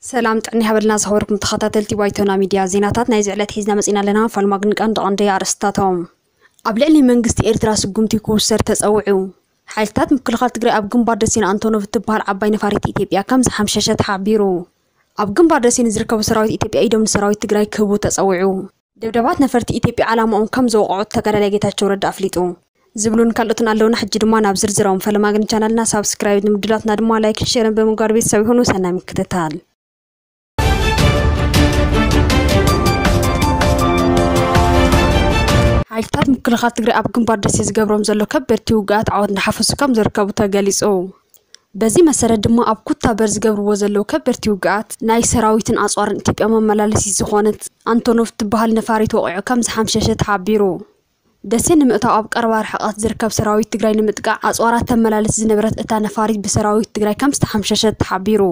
ሰላም ጥዕና ይሃበልና ዝኸበርኩም ተኸታተልቲ ባይቶና ሚድያ፣ ዜናታት ናይዚ ዕለት ሒዝና መጺና ኣለና። ፋልማ ግን ቀንዲ ቀንዲ ኣርእስታቶም። ኣብ ልዕሊ መንግስቲ ኤርትራ ስጉምቲ ክውሰድ ተጸዊዑ። ሓይልታት ምክልኻል ትግራይ ኣብ ግንባር ደሴን ኣንቶኖቭ እትበሃል ዓባይ ነፋሪት ኢትዮጵያ ከም ዝሓምሸሸ ተሓቢሩ። ኣብ ግንባር ደሴን ዝርከቡ ሰራዊት ኢትዮጵያ ኢዶም ንሰራዊት ትግራይ ክህቡ ተጸዊዑ። ደብዳባት ነፈርቲ ኢትዮጵያ ዓላማኦም ከም ዘውቕዑ ተጋዳላይ ጌታቸው ረዳ ኣፍሊጡ። ዝብሉን ካልኦትን ኣለውና። ሕጂ ድማ ናብ ዝርዝሮም። ፈለማ ግን ቻናልና ሳብስክራይብ ንምድላትና ድማ ላይክን ሼርን ብምግባር ቤተሰብ ይኹኑ። ሰናይ ምክትታል። ሓይልታት ምክልኻል ትግራይ ኣብ ግንባር ደሴ ዝገብሮም ዘሎ ከበድቲ ውግኣት ዓወት እንዳሓፈሱ ከም ዝርከቡ ተገሊጹ። በዚ መሰረት ድማ ኣብ ኩታበር ዝገብርዎ ዘለዉ ከበድቲ ውግኣት ናይ ሰራዊትን ኣጽዋርን ኢትዮጵያ መመላለሲት ዝኾነት ኣንቶኖቭ ትበሃል ነፋሪት ወቒዑ ከም ዝሓምሸሸ ተሓቢሩ። ደሴ ንምእታው ኣብ ቀረባ ርሕቐት ዝርከብ ሰራዊት ትግራይ ንምጥቃዕ ኣጽዋራት ተመላልስ ዝነበረት እታ ነፋሪት ብሰራዊት ትግራይ ከም ዝተሓምሸሸት ተሓቢሩ።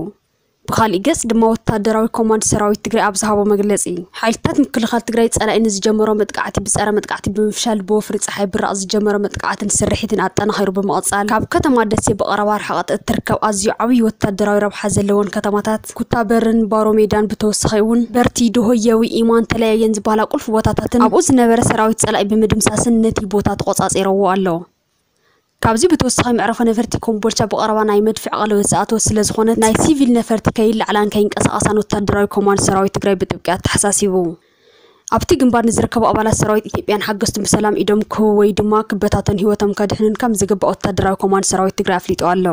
ብኻሊእ ገጽ ድማ ወታደራዊ ኮማንድ ሰራዊት ትግራይ ኣብ ዝሃቦ መግለጺ፣ ሓይልታት ምክልኻል ትግራይ ጸላኢ ንዝጀመሮ መጥቃዕቲ ብጸረ መጥቃዕቲ ብምፍሻል ብወፍሪ ጸሓይ ብራቕ ዝጀመሮ መጥቃዕትን ስርሒትን ኣጠናኺሩ ብምቕጻል ካብ ከተማ ደሴ ብቐረባ ርሕቐት እትርከብ ኣዝዩ ዓብዪ ወታደራዊ ረብሓ ዘለወን ከተማታት ኩታበርን ባሮ ሜዳን ብተወሳኺ እውን በርቲ፣ ድሆየዊ፣ ኢማን፣ ተለያየን ዝበሃላ ቁልፊ ቦታታትን ኣብኡ ዝነበረ ሰራዊት ጸላኢ ብምድምሳስን ነቲ ቦታ ተቖጻጺረዎ ኣሎ። ካብዚ ብተወሳኺ መዕረፎ ነፈርቲ ኮምቦልቻ ብቐረባ ናይ መድፍዕ ቀለበት ዝኣተወት ስለ ዝኾነት ናይ ሲቪል ነፈርቲ ከይለዓላን ከይንቀሳቐሳን ወታደራዊ ኮማንድ ሰራዊት ትግራይ ብጥብቂ ኣተሓሳሲቡ። ኣብቲ ግንባር ንዝርከቡ ኣባላት ሰራዊት ኢትዮጵያን ሓገዝቱን ብሰላም ኢዶም ክህቡ ወይ ድማ ክበታተኑ ህይወቶም ከድሕኑን ከም ዝግባእ ወታደራዊ ኮማንድ ሰራዊት ትግራይ ኣፍሊጡ ኣሎ።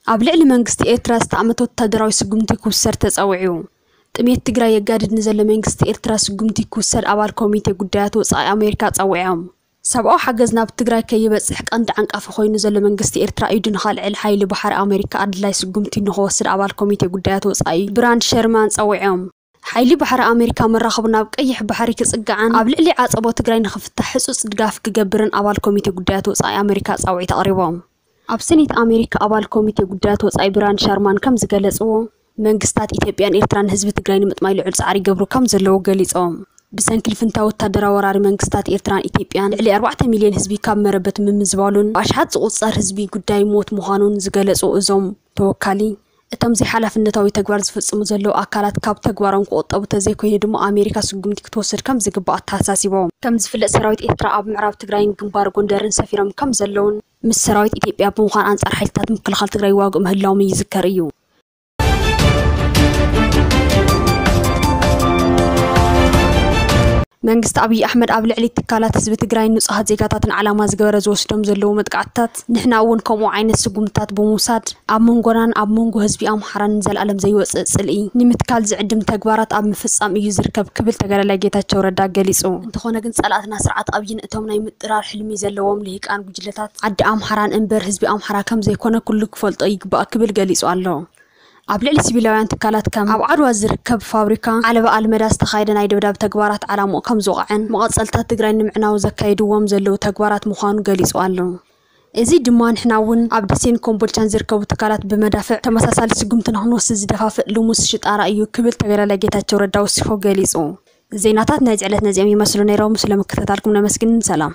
ኣብ ልዕሊ መንግስቲ ኤርትራ ዝተኣመተ ወታደራዊ ስጉምቲ ክውሰድ ተጸዊዑ። ጥሜት ትግራይ የጋድድ ንዘሎ መንግስቲ ኤርትራ ስጉምቲ ክውሰድ ኣባል ኮሚቴ ጉዳያት ወጻኢ ኣሜሪካ ጸዊዖም። ሰብኣዊ ሓገዝ ናብ ትግራይ ከይበጽሕ ቀንዲ ዓንቃፊ ኮይኑ ዘሎ መንግስቲ ኤርትራ ኢዱ ንኸልዕል ሓይሊ ባሕሪ ኣሜሪካ ኣድላይ ስጉምቲ ንኽወስድ ኣባል ኮሚቴ ጉዳያት ወጻኢ ብራንድ ሸርማን ጸዊዖም። ሓይሊ ባሕሪ ኣሜሪካ መራኽቡ ናብ ቀይሕ ባሕሪ ክጽግዓን ኣብ ልዕሊ ዓጸቦ ትግራይ ንኽፍታሕ ህጹጽ ድጋፍ ክገብርን ኣባል ኮሚቴ ጉዳያት ወጻኢ ኣሜሪካ ጻውዒት ኣቕሪቦም። ኣብ ሰኔት ኣሜሪካ ኣባል ኮሚቴ ጉዳያት ወጻኢ ብራንድ ሻርማን ከም ዝገለጽዎ፣ መንግስታት ኢትዮጵያን ኤርትራን ህዝቢ ትግራይ ንምጥማይ ልዑል ጻዕሪ ይገብሩ ከም ዘለዉ ገሊጾም። ብሰንኪ ልፍንታ ወታደራዊ ወራሪ መንግስታት ኤርትራን ኢትዮጵያን ልዕሊ ኣርባዕተ ሚልዮን ህዝቢ ካብ መረበት ምምዝባሉን ብኣሽሓት ዝቑጸር ህዝቢ ጉዳይ ሞት ምዃኑን ዝገለጹ እዞም ተወካሊ፣ እቶም ዘይሓላፍነታዊ ተግባር ዝፍጽሙ ዘለዉ ኣካላት ካብ ተግባሮም ክቑጠቡ ተዘይኮይኑ ድማ ኣሜሪካ ስጉምቲ ክትወስድ ከም ዝግባእ ኣተሓሳሲቦም። ከም ዝፍለጥ ሰራዊት ኤርትራ ኣብ ምዕራብ ትግራይን ግንባር ጎንደርን ሰፊሮም ከም ዘለዉን ምስ ሰራዊት ኢትዮጵያ ብምዃን ኣንጻር ሓይልታት ምክልኻል ትግራይ ይዋግኡ ምህላዎም ይዝከር እዩ። መንግስቲ ኣብይ ኣሕመድ ኣብ ልዕሊ ትካላት ህዝቢ ትግራይን ንጹሃት ዜጋታትን ዓላማ ዝገበረ ዝወስዶም ዘለዉ መጥቃዕትታት ንሕና እውን ከምኡ ዓይነት ስጉምትታት ብምውሳድ ኣብ መንጎናን ኣብ መንጎ ህዝቢ ኣምሓራን ንዘለኣለም ዘይወጽእ ጽልኢ ንምትካል ዝዕድም ተግባራት ኣብ ምፍጻም እዩ ዝርከብ ክብል ተጋዳላይ ጌታቸው ረዳ ገሊጹ። እንተኾነ ግን ጸላእትና ስርዓት ኣብይን እቶም ናይ ምጥራር ሕልሚ ዘለዎም ልሂቃን ጉጅለታት ዓዲ ኣምሓራን እምበር ህዝቢ ኣምሓራ ከም ዘይኮነ ኩሉ ክፈልጦ ይግባእ ክብል ገሊጹ ኣሎ። ኣብ ልዕሊ ሲቪላውያን ትካላት ከም ኣብ ዓድዋ ዝርከብ ፋብሪካ ዓለባ ኣልመዳ ዝተኻየደ ናይ ደብዳብ ተግባራት ዓላምኡ ከም ዝወቕዐን መቐጸልታት ትግራይ ንምዕናው ዘካየድዎም ዘለዉ ተግባራት ምዃኑ ገሊጹ ኣሎ። እዚ ድማ ንሕና እውን ኣብ ደሴን ኮምቦልቻን ዝርከቡ ትካላት ብመዳፍዕ ተመሳሳሊ ስጉምቲ ንክንወስድ ዝደፋፍእ ልሙስ ሽጣራ እዩ ክብል ተጋዳላይ ጌታቸው ረዳ ወሲኹ ገሊጹ። ዜናታት ናይዚ ዕለት ነዚኦም ይመስሉ ነይሮም። ስለ ምክትታልኩም ነመስግን። ሰላም።